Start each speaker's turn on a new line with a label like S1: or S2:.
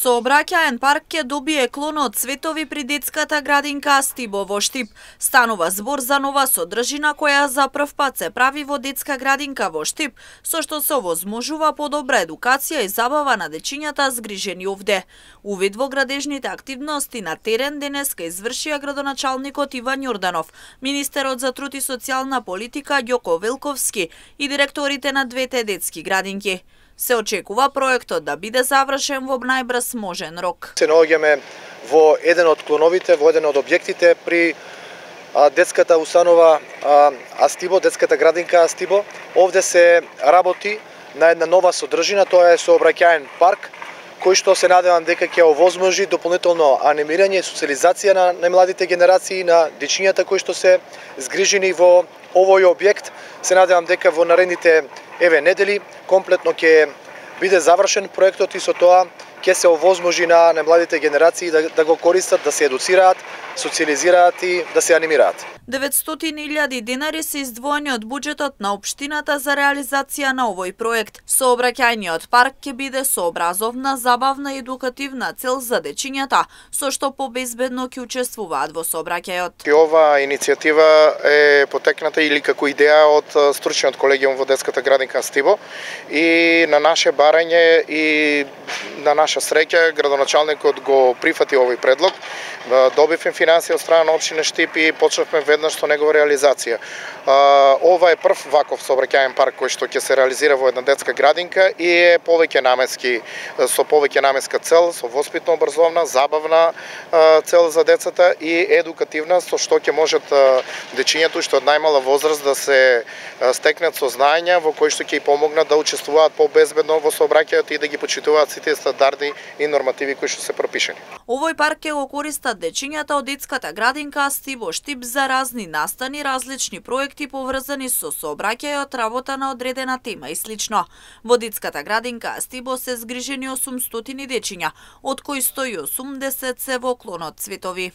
S1: Сообраќаен парк ќе добие клон од цветови при детската градинка Астибо во Штип. Станува збор за нова содржина која за прв пат се прави во детска градинка во Штип, со што се овозможува подобра едукација и забава на дечињата згрижени овде. Увид во градежните активности на терен денеска извршија градоначалникот Иван Јорданов, министерот за труд и социјална политика Ѓоко Велковски и директорите на двете детски градинки. Се очекува проектот да биде завршен во најбрз можен рок.
S2: Се наоѓаме во еден од клоновите, во еден од објектите при детската установа Астибо, детската градинка Астибо. Овде се работи на една нова содржина, тоа е сообраќаен парк, кој што се надевам дека ќе овозможи дополнително анимирање и социализација на најмладите генерации, на дечињата кои што се згрижени во овој објект. Се надевам дека во наредните недели комплетно ќе биде завршен проектот и со тоа ќе се овозможи на најмладите генерации да го користат, да се едуцираат, социализираат и да се анимираат.
S1: 900.000 денари се издвоени од буџетот на општината за реализација на овој проект. Сообраќајниот парк ќе биде со образовна, забавна и едукативна цел за дечињата, со што побезбедно ќе учествуваат во сообраќајот.
S3: Ова иницијатива е потекната или како идеја од стручниот колегиум во детската градинка Астибо и на наше барање и на наша среќа градоначалникот го прифати овој предлог. Добивме финансија од страна на општина Штип и почнавме веднаш со негова реализација. Ова е прв ваков сообраќаен парк кој што ќе се реализира во една детска градинка и е повеќе наменски, со повеќе наменска цел, со воспитно образовна, забавна цел за децата и едукативна, со што ќе можат дечињата што од најмала возраст да се стекнат со знаења во кои што ќе и помогнат да учествуваат побезбедно во сообраќајот и да ги почитуваат сите стандарди и нормативи кои што се пропишани.
S1: Овој парк ќе го користат дечињата од детската градинка Астибо Штип за разни настани, различни проекти поврзани со сообраќајот, работа на одредена тема и слично. Во детската градинка Астибо се згрижени 800 дечиња, од кои 180 се во клонот Цветови.